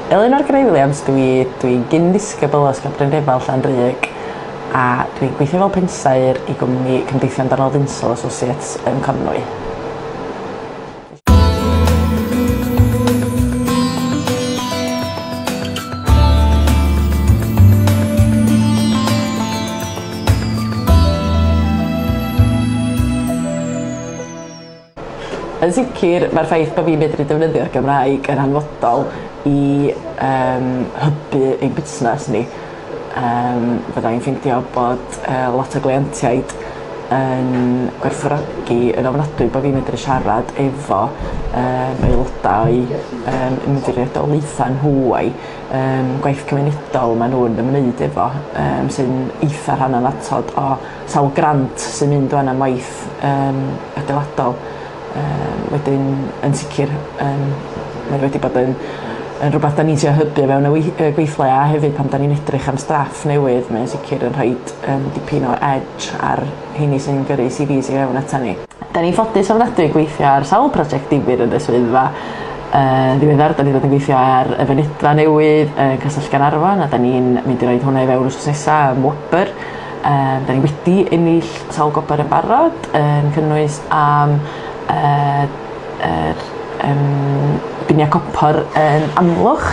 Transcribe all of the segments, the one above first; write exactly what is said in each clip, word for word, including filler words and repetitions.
Elinor Gray Williams dwi, dwi'n gyn-ddisgybl o Ysgol Brynrefail Llanrug a dwi'n gweithio fel pensaer i gwmni Cymdeithion Donald Insall Associates yn Conwy. Yn sicr, mae'r ffaith bod fi'n medru defnyddio'r Gymraeg yn hanfodol i um, hybu ein busnes ni. Um, fydda i'n ffeindio bod uh, lot o gleientiaid yn gwerthfawrogi yn ofnadwy bod fi'n medru siarad efo um, aelodau o'i um, ymddiriedolaethau nhw a'i um, gwaith cymunedol maen nhw'n ymwneud efo, um, sy'n eitha rhan annatod o sawl grant sy'n mynd o'n am waith um, adeiladol. Um, wedyn, yn sicr, um, mae wedi bod yn, yn rhywbeth da ni'n trio hybu mewn y gweithle a hefyd pan da ni'n edrych am staff newydd, mae'n sicr yn rhoi um, dipyn o edge ar rheini sy'n gyrru C Vs i fewn ata ni. Da ni'n ffodus ofnadwy gweithio ar sawl prosiect difyr yn y swyddfa. Uh, ddiweddar, da ni wedi gweithio ar y fynedfa newydd yn uh, Castell Gaernarfon a da ni'n mynd i roed hwnna i fewn wsos nesa am wobr. Um, da ni wedi ennill sawl gwobr yn barod, yn cynnwys am yr uh, um, biniau copor yn Amlwch,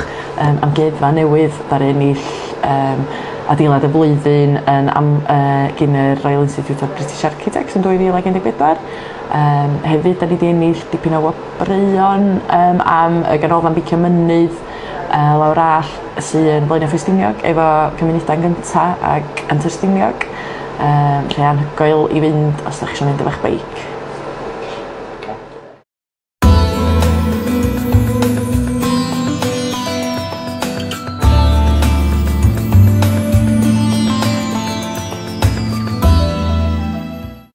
um, amgueddfa newydd ddaru ennill um, adeilad y flwyddyn yn am, uh, gyn y Royal Institute of British Architects yn dwy fil ag un deg pedwar. Um, hefyd, da ni wedi ennill dipyn o wobrwyon um, am y ganolfan beicio mynydd uh, lawr all sy'n Blaenau Ffestiniog efo Cymunedau yn Gynta ac Antur Stiniog. Um, lle anhygoel i fynd os ydych chi eisiau mynd efo'ch beic.